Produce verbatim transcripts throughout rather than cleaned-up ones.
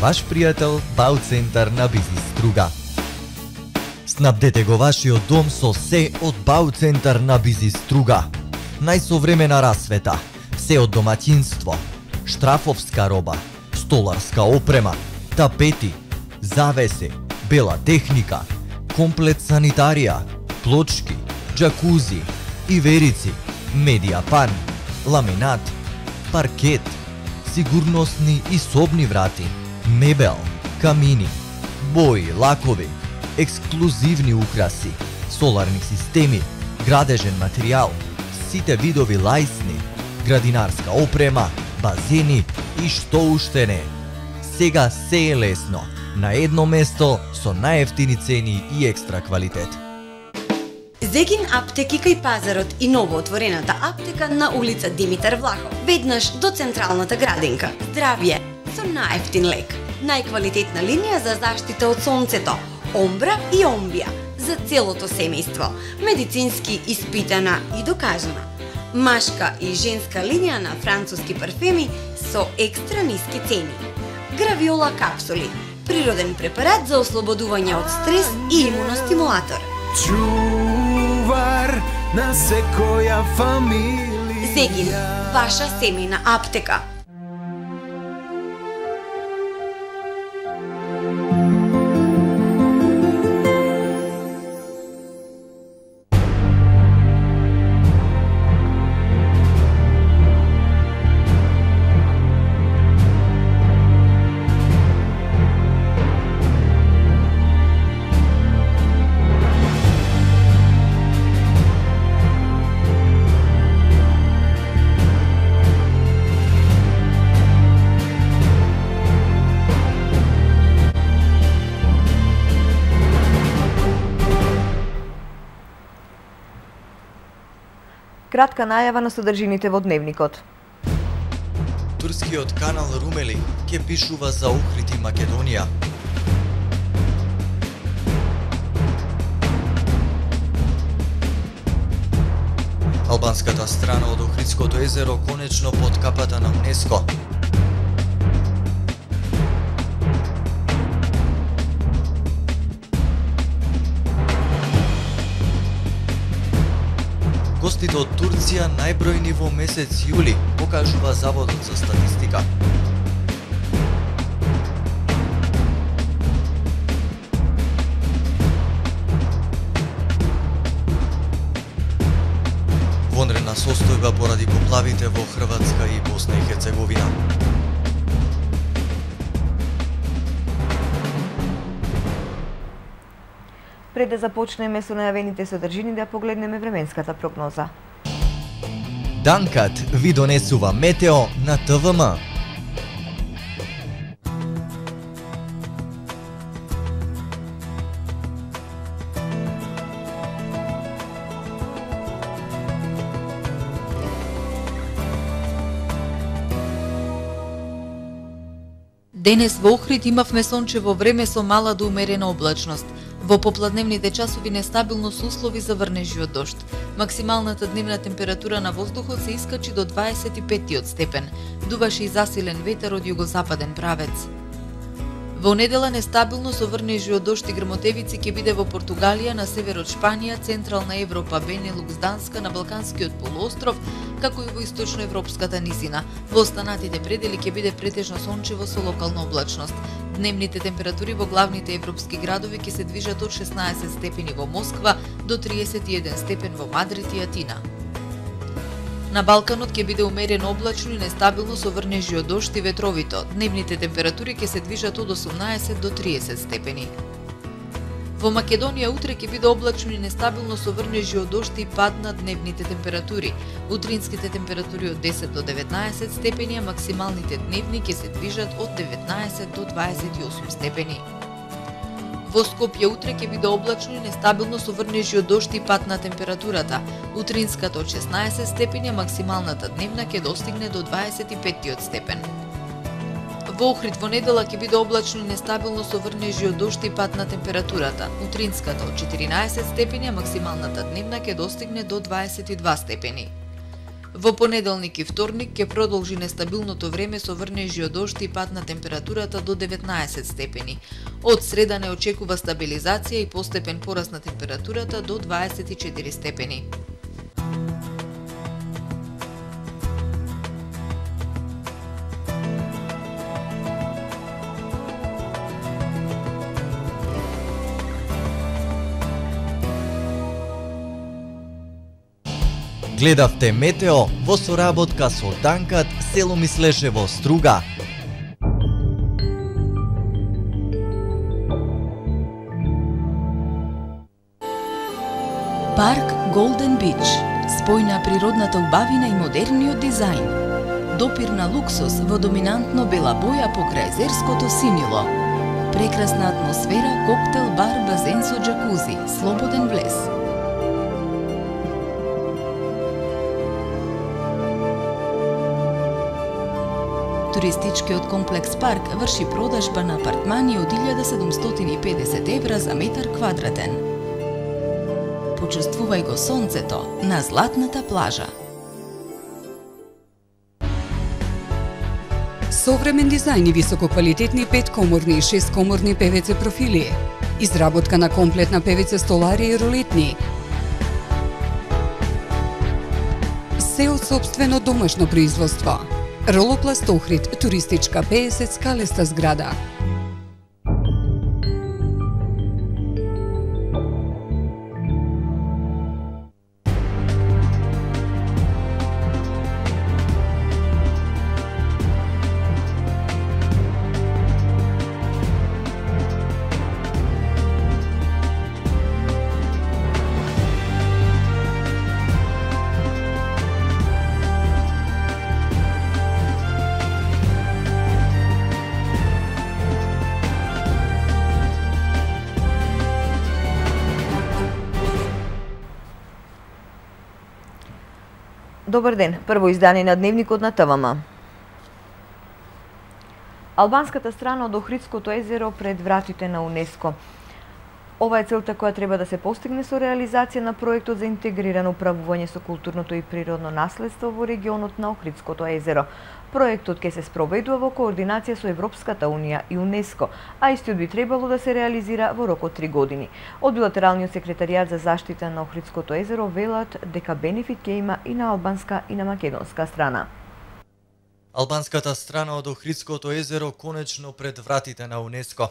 ваш пријател Бауцентар на Бизнис Струга. Снабдете го вашиот дом со се од Бауцентар на Бизнис Струга. Најсовремена расвета, се од домаќинство, штрафовска роба, столарска опрема, тапети, завеси, бела техника, комплет санитарија, плочки, џакузи, иверици, медијапан, ламинат, паркет, сигурносни и собни врати, мебел, камини, бои, лакови, ексклузивни украси, соларни системи, градежен материјал, сите видови лајсни, градинарска опрема, базени и што уште не. Сега се е лесно, на едно место со најевтини цени и екстра квалитет. Зегин аптеки кај пазарот и новоотворената аптека на улица Димитар Влахов, веднаш до централната градинка. Здравје со најевтин лек. Најквалитетна линија за заштита од сонцето, Омбра и Омбија за целото семејство, медицински испитана и докажана. Машка и женска линија на француски парфеми со екстра ниски цени. Гравиола капсули, природен препарат за ослободување од стрес и имуностимулатор. Чувар на секоја фамилија. Зегин, ваша семејна аптека. Кратка најава на содржините во дневникот. Турскиот канал Румели ќе пишува за Охрид и Македонија. Албанската страна од Охридското езеро конечно под капата на УНЕСКО. Гостите од Турција најбројни во месец јули, покажува Заводот за статистика. Вонредна состојба поради поплавите во Хрватска и Босна и Херцеговина. Пред да започнеме со најавените содржини, да погледнеме временската прогноза. Данкат ви донесува метео на Т В М. Денес во Охрид имавме сончево време со мала до умерена облачност. Во попладневните часови нестабилност услови за врнежи од дожд. Максималната дневна температура на воздухот се искачи до дваесет и пет степен. Дуваше и засилен ветер од југозападен правец. Во недела нестабилно со врнежи од дожд и грмотевици ќе биде во Португалија, на север од Шпанија, Централна Европа, Бенелукс, Данска, на Балканскиот полуостров, како и во источноевропската низина. Во останатите предели ќе биде претежно сончево со локална облачност. Дневните температури во главните европски градови ќе се движат од шеснаесет степени во Москва до триесет и еден степен во Мадрид и Атина. На Балканот ќе биде умерено облачно и нестабилно со врнежи од дожд и ветровито. Дневните температури ќе се движат од осумнаесет до триесет степени. Во Македонија утре ќе биде облачно и нестабилно со врнежи од дожд и пад на дневните температури. Утринските температури од десет до деветнаесет степени, а максималните дневни ќе се движат од деветнаесет до дваесет и осум степени. Во Скопје утре ќе биде облачно и нестабилно со врнежи од дожд и пад на температурата. Утринската од шеснаесет степени, а максималната дневна ќе достигне до дваесет и пет степен. Во Охрид во недела ќе биде облачно и нестабилно со врнежи од дожд и пад на температурата. Утринската од четиринаесет степени, а максималната дневна ќе достигне до дваесет и два степени. Во понеделник и вторник ќе продолжи нестабилното време со врнежи од дожд и пад на температурата до деветнаесет степени. Од среда не очекува стабилизација и постепен пораст на температурата до дваесет и четири степени. Гледавте Метео во соработка со Данкат, село Мислешево, Струга. Парк Голден Бич. Спој на природната убавина и модерниот дизајн. Допир на луксус во доминантно бела боја покрај езерското синило. Прекрасна атмосфера, коктел, бар, базен со джакузи, слободен влез. Туристичкиот комплекс Парк врши продажба на апартмани од илјада седумстотини и педесет евра за метар квадратен. Почувствувај го сонцето на златната плажа. Современ дизајн и висококвалитетни петкоморни и шесткоморни певеце профили. Изработка на комплетна певеце столари и ролетни. Се од сопствено домашно производство. Ролопласт Охрид, туристичка пеесет скалеста зграда. Добар ден, прво издание на Дневникот на ТВМ. Албанската страна од Охридското езеро пред вратите на УНЕСКО. Ова е целта која треба да се постигне со реализација на проектот за интегрирано управување со културното и природно наследство во регионот на Охридското езеро. Проектот ќе се спроведува во координација со Европската унија и УНЕСКО, а истиот би требало да се реализира во рок од три години. Од билатералниот секретаријат за заштита на Охридското езеро велат дека бенефит ќе има и на албанска и на македонска страна. Албанската страна од Охридското езеро конечно пред вратите на УНЕСКО.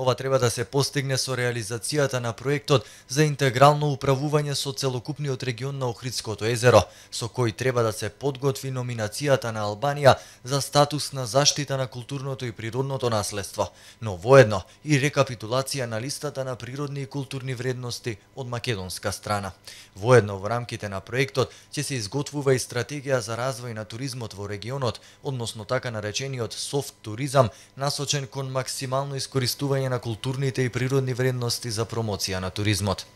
Ова треба да се постигне со реализацијата на проектот за интегрално управување со целокупниот регион на Охридското езеро, со кој треба да се подготви номинацијата на Албанија за статус на заштита на културното и природното наследство, но воедно и рекапитулација на листата на природни и културни вредности од македонска страна. Воедно во рамките на проектот ќе се изготвува и стратегија за развој на туризмот во регионот, односно така наречениот софт туризам, насочен кон максимално искористување на културните и природни вредности за промоција на туризмот.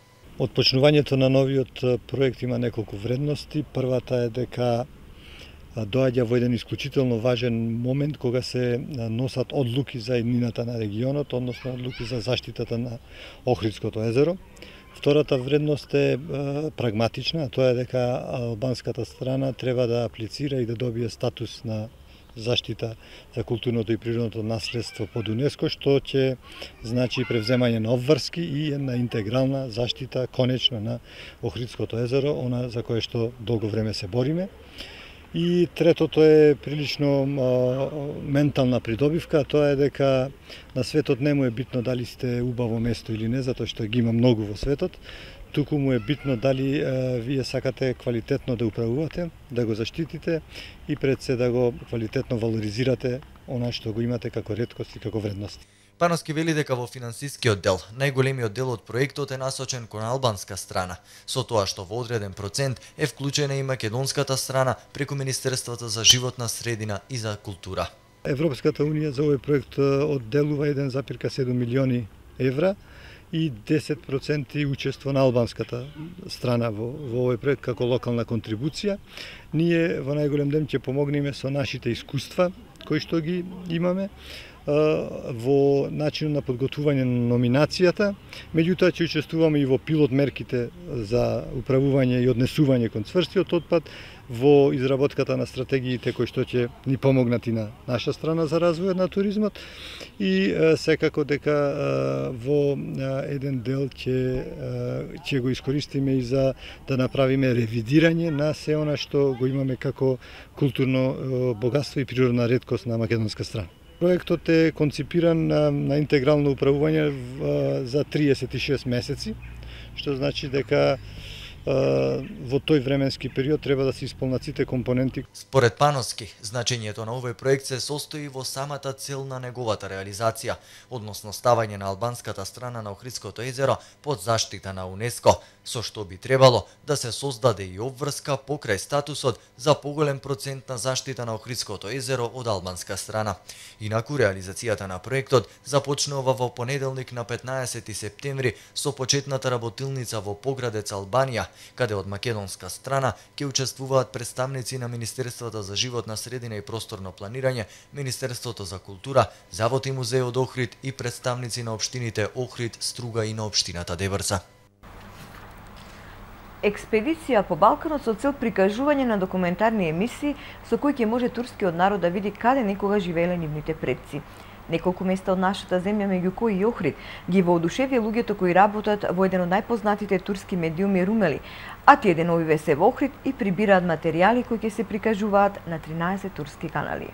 Од почнувањето на новиот проект има неколку вредности. Првата е дека доаѓа во еден исклучително важен момент кога се носат одлуки за иднината на регионот, односно одлуки за заштитата на Охридското езеро. Втората вредност е прагматична, тоа е дека албанската страна треба да аплицира и да добие статус на заштита за културното и природното наследство под УНЕСКО, што ќе значи превземање на обврски и една интегрална заштита конечно на Охридското езеро, она за кое што долго време се бориме. И третото е прилично а, ментална придобивка, тоа е дека на светот не му е битно дали сте убаво место или не, затоа што ги има многу во светот, туку му е битно дали а, вие сакате квалитетно да управувате, да го заштитите и пред се да го квалитетно валоризирате она што го имате како реткост и како вредност. Пановски вели дека во финансискиот дел, најголемиот дел од проектот е насочен кон албанска страна, со тоа што во одреден процент е вклучена и македонската страна преку Министерството за животна средина и за култура. Европската унија за овој проект одделува еден запирка седум милиони евра и десет проценти учество на албанската страна во, во овој проект како локална контрибуција. Ние во најголем дел ќе помогнеме со нашите искуства кои што ги имаме, во начинот на подготвување на номинацијата, меѓутоа ќе учествуваме и во пилот мерките за управување и однесување кон цврстиот отпад, во изработката на стратегиите кои што ќе ни помогнат и на наша страна за развојот на туризмот и секако дека во еден дел ќе ќе го искористиме и за да направиме ревидирање на се она што го имаме како културно богатство и природна реткост на македонска страна. Проектот е конципиран на интегрално управување за триесет и шест месеци, што значи дека во тој временски период треба да се исполнат сите компоненти. Според Пановски, значењето на овој проект се состои во самата цел на неговата реализација, односно ставање на албанската страна на Охридското езеро под заштита на УНЕСКО, со што би требало да се создаде и обврска покрај статусот за поголем процент на заштита на Охридското езеро од албанска страна. Инаку реализацијата на проектот започнува во понеделник на петнаесети септември со почетната работилница во Поградец, Албанија, каде од македонска страна ќе учествуваат представници на Министерството за животна средина и просторно планирање, Министерството за култура, Завод и музеј од Охрид и представници на општините Охрид, Струга и на општината Деврца. Експедиција по Балканот со цел прикажување на документарни емисии со кои ќе може турскиот народ да види каде некога живееле нивните предци. Неколку места од нашата земја, меѓу кои и Охрид, ги воодушевија луѓето кои работат во еден од најпознатите турски медиуми Румели, а тие деновиве се во Охрид и прибираат материјали кои ќе се прикажуваат на тринаесет турски канали.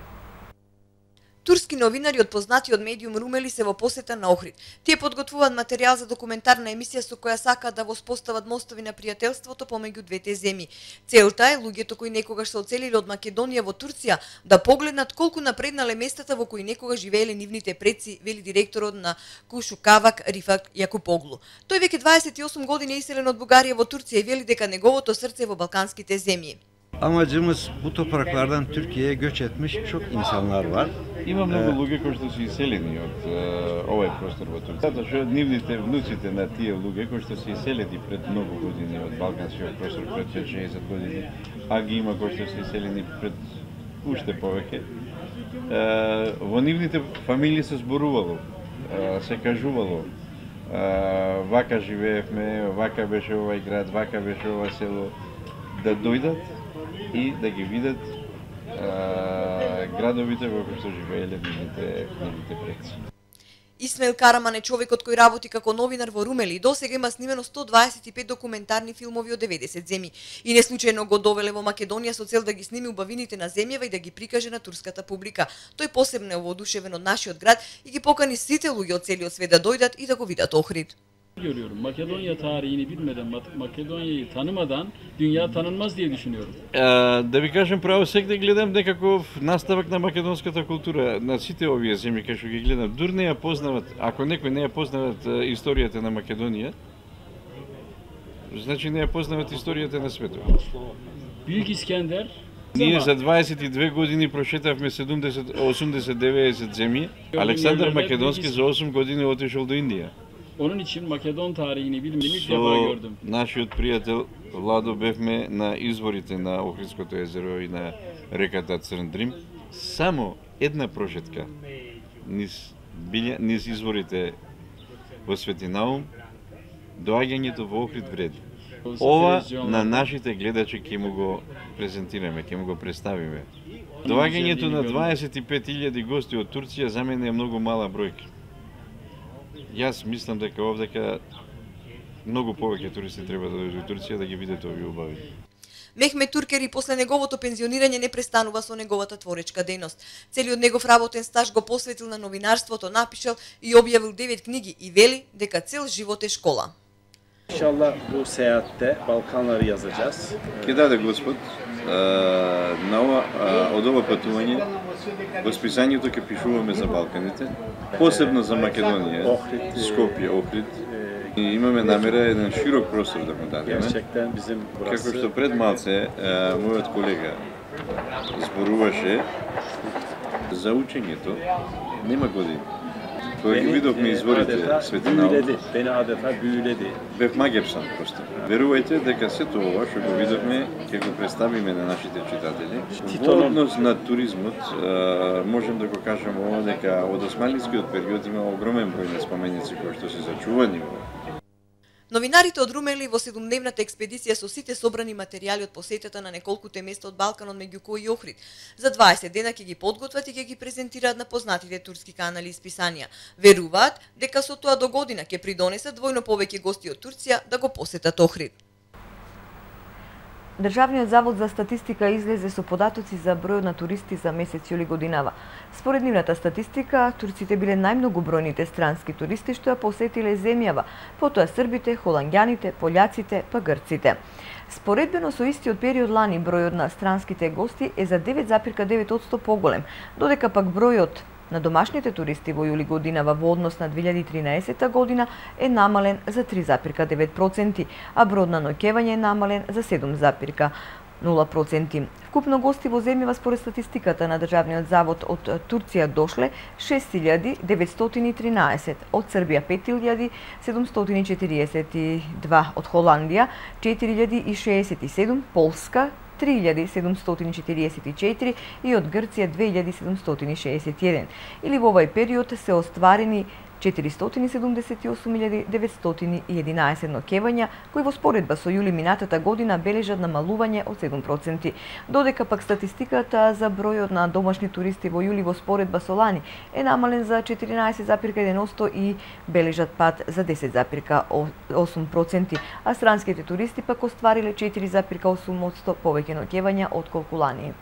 Турски новинари од познатиот медиум Румели се во посета на Охрид. Тие подготвуваат материјал за документарна емисија со која сакаат да воспостават мостови на пријателството помеѓу двете земји. Целта е луѓето кои некогаш се оцелиле од Македонија во Турција да погледнат колку напреднале местата во кои некогаш живееле нивните предци, вели директорот на Кушу Кавак Рифат Јакупоглу. Тој веќе дваесет и осум години е иселен од Бугарија во Турција и вели дека неговото срце е во балканските земји. Amacımız bu topraklardan Türkiye'ye göç etmiş çok insanlar var. Има многу луѓе кои што се иселени од овој простор во Турција. Затоа што нивните внуците на тие луѓе кои што се иселени пред многу години од балканскиот простор, пред петдесет години, а ги има кои што се иселени пред уште повеќе. Во нивните фамилии се зборувало, се кажувало, вака живеевме, вака беше овај град, вака беше ова село, да дојдат и да ги видат а, градовите во кои што живееле нивните, нивните предци. Исмаил Караман е човекот кој работи како новинар во Румели и досега има снимено сто дваесет и пет документарни филмови од деветдесет земји. И не случајно го довеле во Македонија со цел да ги сними убавините на земјава и да ги прикаже на турската публика. Тој посебно е воодушевен од нашиот град и ги покани сите луѓе од целиот свет да дојдат и да го видат Охрид. Görüyorum. Makedonya tarihini bilmeden, Makedonya'yı tanımadan dünya tanınmaz diye düşünüyorum. Е, да ви кажем право, сега гледам некаков наставак на македонската култура на сите овие земји кај што ги гледам. Дур не ја познават, ако некој не ја познават историјата на Македонија, значи не ја познават историјата на светот. Büyük İskender Ние за дваесет и две години прошетавме седумдесет, осумдесет, деветдесет земји. Александар Македонски за осум години отишол до Индија. Onun için Makedon tarihini bilmediğimi ilk defa gördüm. Нашиот пријател Владо бевме на изворите на Охридското езеро и на реката Црн Дрим. Само една прошетка низ, билја, низ изворите во Свети Наум, доаѓањето во Охрид вреди. Ова на нашите гледачи ќе му го презентираме, ќе му го представиме. Доаѓањето на дваесет и пет илјади гости од Турција за мене е многу мала бројка. Јас мислам дека овдека многу повеќе туристи треба да дојдат во Турција да ги видат овие убави. Мехмет Туркери после неговото пензионирање не престанува со неговата творечка дејност. Целиот негов работен стаж го посветил на новинарството, напишал и објавил девет книги и вели дека цел живот е школа. İnşallah bu seyahatte Balkanları yazacağız. Ке даде Господ, на ова, од ова патување, во списањето ќе пишуваме за Балканите, посебно за Македонија, Скопје, Охрид. И имаме намера еден широк простор да му дадеме. Како што пред малце мојот колега зборуваше за учењето, нема години. Кога ги видовме изворите светлина, beni adeta büyüledi. бев магепсан просто. Верувајте дека сето ова што го видовме, ќе го представиме на нашите читатели. Во однос на туризмот, можем да го кажеме ова дека од османлискиот период има огромен број на споменици кои што се зачувани во. Новинарите од Румели во седумдневната експедиција со сите собрани материјали од посетата на неколкуте места од Балканот меѓу кои и Охрид. За дваесет дена ќе ги подготват и ќе ги презентираат на познатите турски канали и списанија. Веруваат дека со тоа до година ќе придонесат двојно повеќе гости од Турција да го посетат Охрид. Државниот завод за статистика излезе со податоци за бројот на туристи за месец јули годинава. Според нивната статистика, турците биле најмногобројните странски туристи што ја посетиле земјава, потоа србите, холанѓаните, пољаците, па грците. Споредбено со истиот период лани бројот на странските гости е за девет запирка девет одсто поголем, додека пак бројот на домашните туристи во јули годинава во однос на две илјади и тринаесетта година е намален за три запирка девет проценти, а бројот на ноќевање е намален за седум запирка нула проценти. Вкупно гости во земјава според статистиката на Државниот завод од Турција дошле шест илјади деветстотини и тринаесет, од Србија пет илјади седумстотини и четириесет и два, од Холандија четири илјади и шеесет и седум, Полска три илјади седумстотини и четириесет и четири и од Грција две илјади седумстотини и шеесет и еден. Или во овај период се остварени четиристотини и седумдесет и осум илјади деветстотини и единаесет ноќевања, кои во споредба со јули минатата година бележат намалување од седум проценти, додека пак статистиката за бројот на домашни туристи во јули во споредба со лани е намален за четиринаесет запирка еден одсто и бележат пад за десет запирка осум проценти, а странските туристи пак оствариле четири запирка осум одсто повеќе ноќевања отколку лани.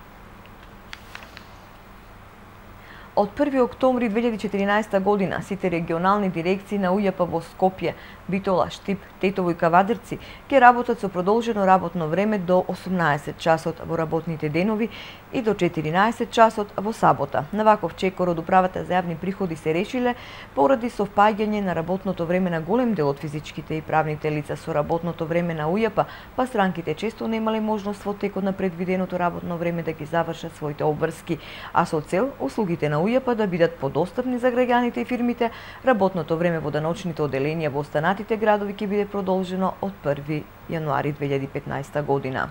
Од први октомври две илјади и четиринаесетта година сите регионални дирекции на УЈП во Скопје, Битола, Штип, Тетово и Кавадарци ќе работат со продолжено работно време до осумнаесет часот во работните денови и до четиринаесет часот во сабота. На ваков чекор од Управата за јавни приходи се решиле поради совпаѓање на работното време на голем дел од физичките и правните лица со работното време на УЈП, па странките често немале можност во текот на предвиденото работно време да ги завршат своите обврски, а со цел услугите на УЈП да бидат подостапни за граѓаните и фирмите, работното време во деночните оделенија во останатите градови ќе биде продолжено од први јануари две илјади и петнаесетта година.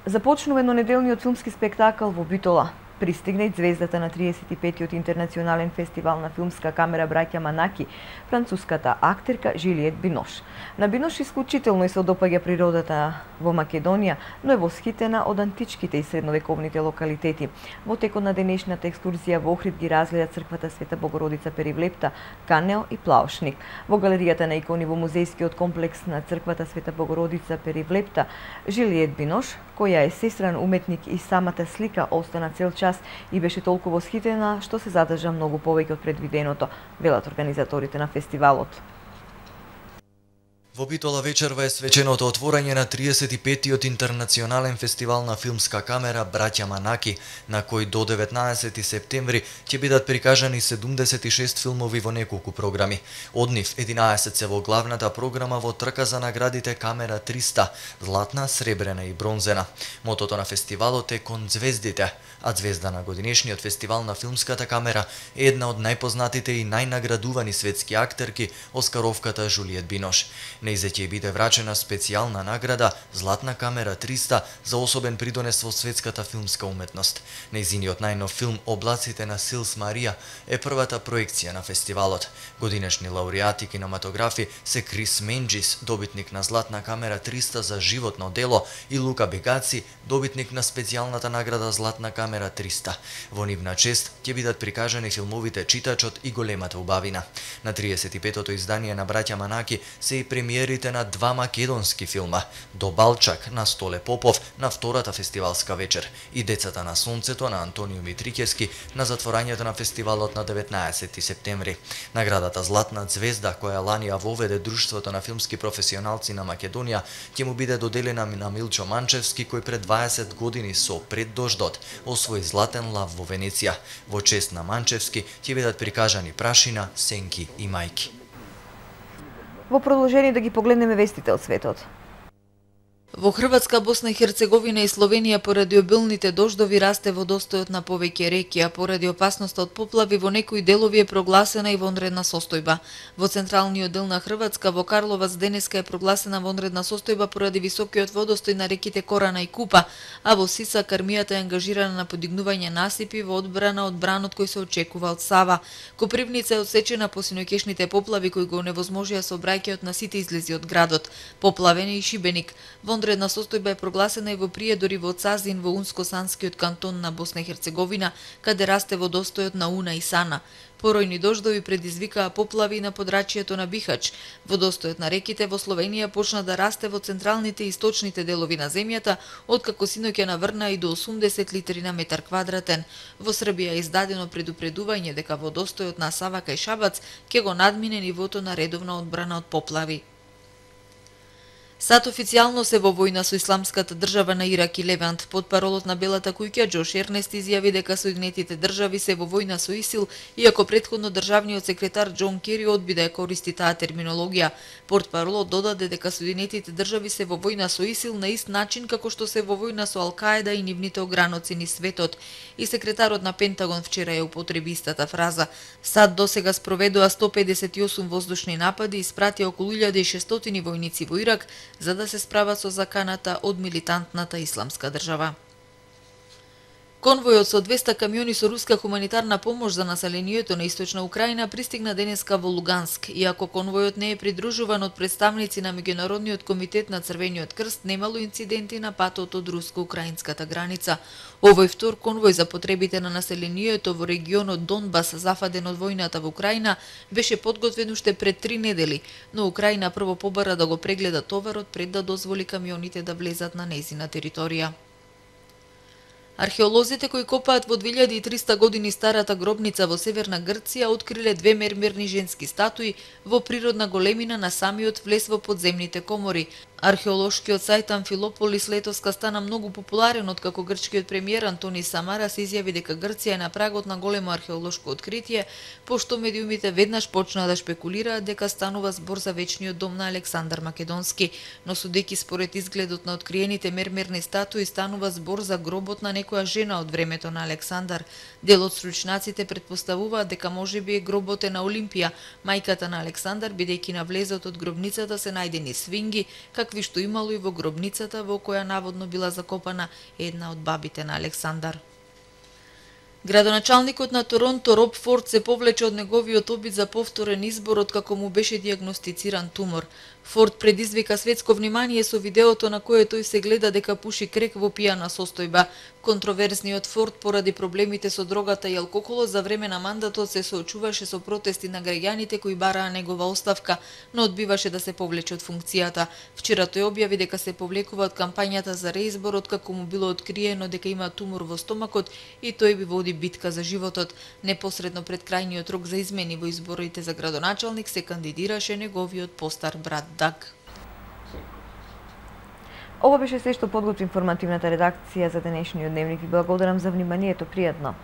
Започнува еднонеделниот филмски спектакл во Битола. Пристигна и звездата на триесет и петтиот интернационален фестивал на филмска камера Браќа Манаки, француската актерка Жилиет Бинош. На Бинош исклучително и се допаѓа природата во Македонија, но е восхитена од античките и средновековните локалитети. Во текот на денешната екскурзија во Охрид ги разгледа црквата Света Богородица Перивлепта, Канео и Плаушник. Во галеријата на икони во музејскиот комплекс на црквата Света Богородица Перивлепта, Жилиет Бинош, која е сестран уметник и самата слика остана цел час и беше толку восхитена што се задржа многу повеќе од предвиденото, велат организаторите на фестивалот. Во Битола вечерва е свеченото отворање на триесет и петтиот интернационален фестивал на филмска камера Браќа Манаки, на кој до деветнаесети септември ќе бидат прикажани седумдесет и шест филмови во неколку програми. Од нив единаесет се во главната програма во трка за наградите Камера триста, златна, сребрена и бронзена. Мотото на фестивалот е Кон звездите, а звезда на годинешниот фестивал на филмската камера е една од најпознатите и најнаградувани светски актерки, оскаровката Жилиет Бинош. Нејзе ќе биде врачена специјална награда Златна камера триста за особен придонес во светската филмска уметност. Нејзиниот најнов филм Облаците на Силс Марија е првата проекција на фестивалот. Годинешни лауреати кинематографи се Крис Менџис, добитник на Златна камера триста за животно дело, и Лука Бегаци, добитник на специјалната награда Златна камера триста. Во нивна чест ќе бидат прикажани филмовите Читачот и Големата убавина. На триесет и петтото издание на Браќа Манаки се и премиерите на два македонски филма: До Балчак на Столе Попов на втората фестивалска вечер и Децата на сонцето на Антонио Митрикевски на затворањето на фестивалот на деветнаесети септември. Наградата Златна звезда, која лани ја воведе Друштвото на филмски професионалци на Македонија, ќе му биде доделена на Милчо Манчевски, кој пред дваесет години со Пред дождот освои златен лав во Венеција. Во чест на Манчевски ќе бидат прикажани Прашина, Сенки и Мајки. Во продолжение да ги погледнеме вестите од светот. Во Хрватска, Босна и Херцеговина и Словенија поради обилните дождови расте водостојот на повеќе реки, а поради опасноста од поплави во некои делови е прогласена и вонредна состојба. Во централниот дел на Хрватска, во Карловац, денеска е прогласена вонредна состојба поради високиот водостој на реките Корана и Купа, а во Сисак армијата е ангажирана на подигнување насипи во одбрана од бранот кој се очекува од Сава. Копривница е одсечена по синоќешните поплави кои го оневозможија сообраќајот на сите излези од градот. Поплавен е и Шибеник. Вонредна состојба е прогласена и во Приедор и во Цазин во Унско-Санскиот кантон на Босна и Херцеговина, каде расте водостојот на Уна и Сана. Поројни дождови предизвикаа поплави на подрачјето на Бихач. Водостојот на реките во Словенија почна да расте во централните и источните делови на земјата, откако синоќа наврна и до осумдесет литри на метар квадратен. Во Србија е издадено предупредување дека водостојот на Сава кај Шабац ќе го надмине нивото на редовна одбрана од поплави. САД официјално се во војна со Исламската држава на Ирак и Левант. Потпаролот на Белата куќа Џош Ернест изјави дека Соединетите држави се во војна со ИСИЛ, иако претходно државниот секретар Џон Кери одби да ја користи таа терминологија. Портпаролот додаде дека Соединетите држави се во војна со ИСИЛ на ист начин како што се во војна со Ал-Каеда и нивните ограноци низ светот. И секретарот на Пентагон вчера ја употреби истата фраза. САД досега спроведува сто педесет и осум воздушни напади и испратија околу илјада и шестстотини војници во Ирак, за да се справат со заканата од милитантната Исламска држава. Конвојот со двеста камиони со руска хуманитарна помош за населението на источна Украина пристигна денеска во Луганск. Иако конвојот не е придружуван од представници на Меѓународниот комитет на Црвениот крст, немало инциденти на патот од руско-украинската граница. Овој втор конвој за потребите на населението во регионот Донбас, зафаден од војната во Украина, беше подготвен уште пред три недели, но Украина прво побара да го прегледа товарот пред да дозволи камионите да влезат на нејзина територија. Археолозите кои копаат во две илјади и триста години старата гробница во северна Грција откриле две мермерни женски статуи во природна големина на самиот влез во подземните комори. Археолошкиот сајт Амфилополис летоска стана многу популарен откако грчкиот премиер Антони Самарас изјави дека Грција е на прагот на големо археолошко откритие, пошто медиумите веднаш почнаа да шпекулираат дека станува збор за вечниот дом на Александар Македонски, но судејќи според изгледот на откриените мермерни статуи станува збор за гробот на некоја жена од времето на Александар. Дел од стручнаците претпоставуваат дека можеби гробот е на Олимпија, мајката на Александар, бидејќи на влезот од гробницата се најдени свинги, какви што имало и во гробницата во која наводно била закопана една од бабите на Александар. Градоначалникот на Торонто Роб Форд се повлече од неговиот обид за повторен избор откако му беше диагностициран тумор. Форд предизвика светско внимание со видеото на кое тој се гледа дека пуши крек во пијана состојба. Контроверзниот Форд поради проблемите со дрогата и алкохолот за време на мандатот се соочуваше со протести на граѓаните кои бараа негова оставка, но одбиваше да се повлече од функцијата. Вчера тој објави дека се повлекува од кампањата за реизбор откако му било откриено дека има тумор во стомакот и тој би води битка за животот. Непосредно пред крајниот рок за измени во изборите за градоначалник се кандидираше неговиот постар брат Даг. Ова беше се што подготви информативната редакција за денешниот дневник. Ви благодарам за вниманието. Пријатно.